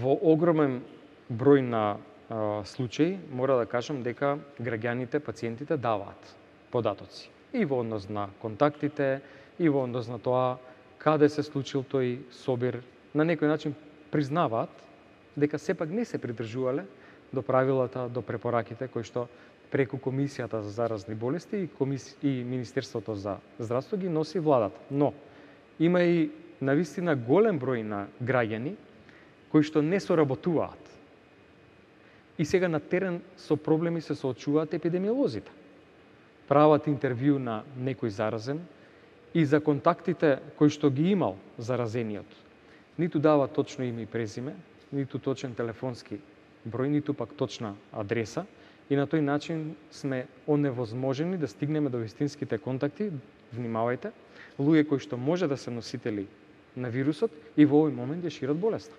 Во огромен број на случаи мора да кажам дека граѓаните, пациентите даваат податоци и во однос на контактите, и во однос на тоа каде се случил тој собир. На некој начин признаваат дека сепак не се придржувале до правилата, до препораките кои што преку Комисијата за заразни болести и Министерството за здравство ги носи владата. Но има и навистина голем број на граѓани кои што не соработуваат. И сега на терен со проблеми се соочуваат епидемиолозите. Прават интервју на некој заразен и за контактите кои што ги имал заразениот. Ниту дава точно име и презиме, ниту точен телефонски број, ниту пак точна адреса. И на тој начин сме оневозможени да стигнеме до вистинските контакти, внимавајте, луѓе кои што може да се носители на вирусот и во овој момент ја шират болеста.